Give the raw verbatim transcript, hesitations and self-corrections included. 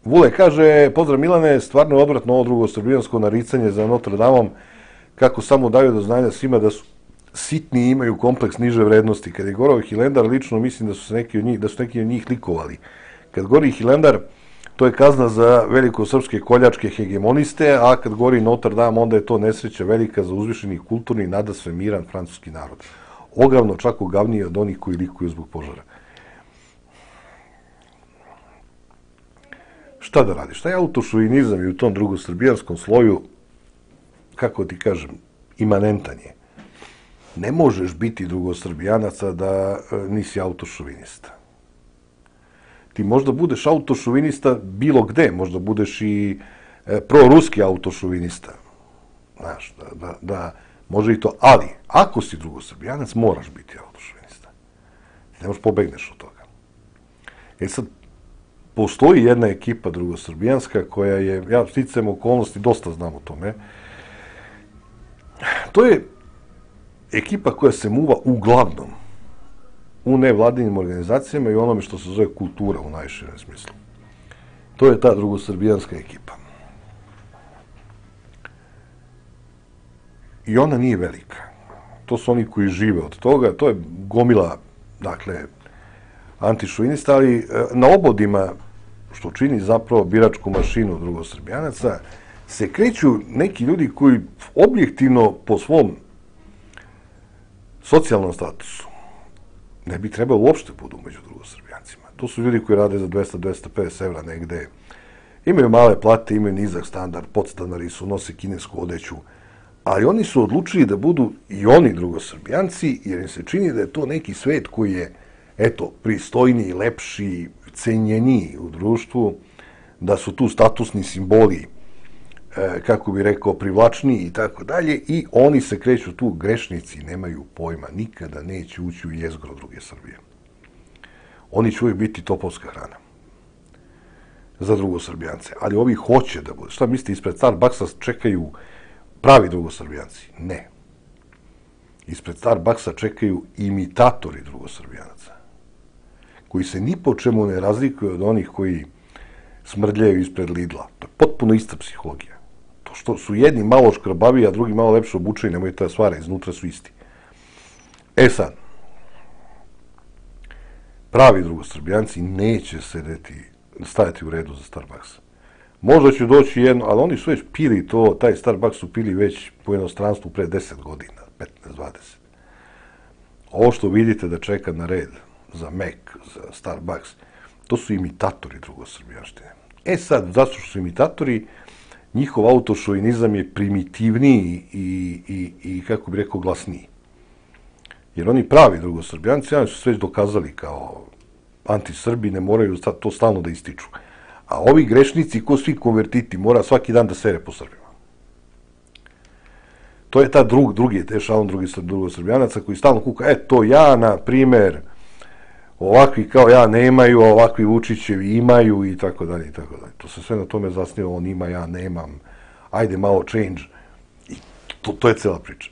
Vule kaže, pozdrav Milane, stvarno je odvratno ovo drugosrbijansko naricanje za Notre Damom, kako samo daju do znanja svima da su sitni i imaju kompleks niže vrednosti. Kad je gorao Hilendar, lično mislim da su, se neki od njih, da su neki od njih likovali. Kad gori Hilendar, to je kazna za velikosrpske koljačke hegemoniste, a kad gori Notre Dame, onda je to nesreća velika za uzvišeni kulturni, nadasve miran francuski narod. Ogavno, čak ogavnije od onih koji likuju zbog požara. Šta da radiš? Šta je autošovinizam i u tom drugosrbijanskom sloju, kako ti kažem, imanentan je. Ne možeš biti drugosrbijanaca da nisi autošovinista. Ti možda budeš autošovinista bilo gde, možda budeš i proruski autošovinista. Znaš, da, da, da može i to. Ali, ako si drugosrbijanac, moraš biti autošovinista. Ne možeš pobegneš od toga. E sad, postoji jedna ekipa drugosrbijanska koja je, ja sticajem okolnosti, dosta znam o tome. To je ekipa koja se muva uglavnom u nevladinim organizacijama i onome što se zove kultura u najširem smislu. To je ta drugosrbijanska ekipa. I ona nije velika. To su oni koji žive od toga. To je gomila, dakle, antišovinista, ali na obodima, što čini zapravo biračku mašinu drugosrbijanaca, se kreću neki ljudi koji objektivno po svom socijalnom statusu ne bi trebalo uopšte budu među drugosrbijancima. To su ljudi koji rade za dvesta do dvesta pedeset evra negde, imaju male plate, imaju nizak standard, podstanari su, nose kinesku odeću, ali oni su odlučili da budu i oni drugosrbijanci, jer im se čini da je to neki svet koji je, eto, pristojniji, lepši, cenjeniji u društvu, da su tu statusni simboli, kako bi rekao, privlačniji i tako dalje, i oni se kreću tu, grešnici, nemaju pojma, nikada neće ući u jezgro druge Srbije. Oni će uvijek biti topovska hrana za drugosrbijance, ali ovi hoće da bude. Šta mislite, ispred Starbucksa čekaju pravi drugosrbijanci? Ne. Ispred Starbucksa čekaju imitatori drugosrbijanaca, koji se ni po čemu ne razlikuju od onih koji smrdljaju ispred Lidla. To je potpuno ista psihologija. To što su jedni malo škrabaviji, a drugi malo lepše obučeni, nemojte da svara, iznutra su isti. E sad, pravi drugosrbijanci neće sedeti, stajati u redu za Starbucks. Možda će doći jedno, ali oni su već pili to, taj Starbucks su pili već po inostranstvu pre deset godina, petnaest dvadeset. Ovo što vidite da čeka na red za Mac, za Starbucks, to su imitatori drugosrbijanštine. E sad, zato što su imitatori, njihov autošovinizam je primitivniji i, i, i kako bi rekao, glasniji. Jer oni pravi drugosrbijanci, oni su sve dokazali kao antisrbi, ne moraju to stalno da ističu. A ovi grešnici, ko svi konvertiti, mora svaki dan da sere po Srbima. To je ta drug, drugi, te šalon drugi drugosrbijanaca koji stalno kuka, e, to ja, na primer, ovakvi kao ja nemaju, a ovakvi Vučićevi imaju i tako dalje i tako dalje. To se sve na tome zasniva, on ima, ja nemam, ajde malo change. I to, to je cela priča.